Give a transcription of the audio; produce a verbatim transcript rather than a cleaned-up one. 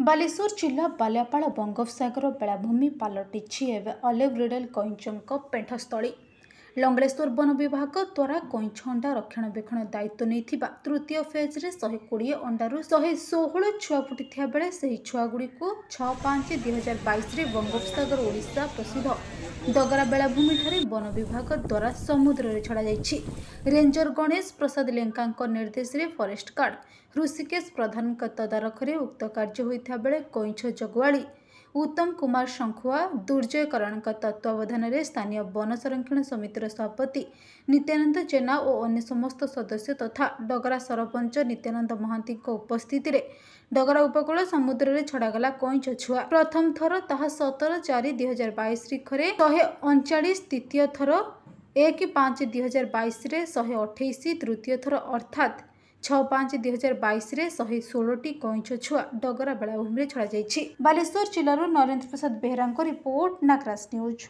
ବାଲେଶ୍ୱର ଜିଲ୍ଲା ବାଲିଆପାଳ ବଙ୍ଗୋପସାଗର ବେଳାଭୂମି ପାଲଟିଛି ଏବେ ଅଲିଭ୍ ରିଡଲେ କଇଁଛଙ୍କ ପେଣ୍ଠସ୍ଥଳୀ। ଲଙ୍ଗଳେଶ୍ୱର ବନ ବିଭାଗ ଦ୍ୱାରା କଇଁଛ ଅଣ୍ଡା ରକ୍ଷଣାବେକ୍ଷଣ ଦାୟିତ୍ୱ ନେଇଥିବା ତୃତୀୟ ଫେଜ୍ରେ ଶହେ କୋଡ଼ିଏ ଅଣ୍ଡାରୁ ଶହେ ଷୋହଳ ଛୁଆ ଫୁଟିଥିବା ବେଳେ ସେହି ଛୁଆଗୁଡ଼ିକୁ ଛଅ ପାଞ୍ଚ ଦୁଇ ହଜାର ବାଇଶରେ ବଙ୍ଗୋପସାଗର ଓଡ଼ିଶା ପ୍ରସିଦ୍ଧ ଡଗରା ବେଳାଭୂମିଠାରେ ବନ ବିଭାଗ ଦ୍ୱାରା ସମୁଦ୍ରରେ ଛଡ଼ାଯାଇଛି। ରେଞ୍ଜର ଗଣେଶ ପ୍ରସାଦ ଲେଙ୍କାଙ୍କ ନିର୍ଦ୍ଦେଶରେ ଫରେଷ୍ଟ ଗାର୍ଡ ହୃଷିକେଶ ପ୍ରଧାନଙ୍କ ତଦାରଖରେ ଉକ୍ତ କାର୍ଯ୍ୟ ହୋଇଥିବା ବେଳେ କଇଁଛ ଜଗୁଆଳି ଉତ୍ତମ କୁମାର ଶଙ୍ଖୁଆ, ଦୁର୍ଜୟ କରଣଙ୍କ ତତ୍ତ୍ୱାବଧାନରେ ସ୍ଥାନୀୟ ବନ ସଂରକ୍ଷଣ ସମିତିର ସଭାପତି ନିତ୍ୟାନନ୍ଦ ଜେନା ଓ ଅନ୍ୟ ସମସ୍ତ ସଦସ୍ୟ ତଥା ଡଗରା ସରପଞ୍ଚ ନିତ୍ୟାନନ୍ଦ ମହାନ୍ତିଙ୍କ ଉପସ୍ଥିତିରେ ଡଗରା ଉପକୂଳ ସମୁଦ୍ରରେ ଛଡ଼ାଗଲା କଇଁଛ ଛୁଆ। ପ୍ରଥମ ଥର ତାହା ସତର ଚାରି ଦୁଇ ହଜାର ବାଇଶ ତାରିଖରେ ଶହେ ଅଣଚାଳିଶ, ଦ୍ୱିତୀୟ ଥର ଏକ ପାଞ୍ଚ ଦୁଇ ହଜାର ବାଇଶରେ ଶହେ ଅଠେଇଶ, ତୃତୀୟ ଥର ଅର୍ଥାତ୍ ଛଅ ପାଞ୍ଚ ଦୁଇ ହଜାର ବାଇଶରେ ଶହେ ଷୋହଳଟି କଇଁଛ ଛୁଆ ଡଗରା ବେଳାଭୂମିରେ ଛଡ଼ାଯାଇଛି। ବାଲେଶ୍ୱର ଜିଲ୍ଲାରୁ ନରେନ୍ଦ୍ର ପ୍ରସାଦ ବେହେରାଙ୍କ ରିପୋର୍ଟ, ନାଗରାଜ ନ୍ୟୁଜ୍।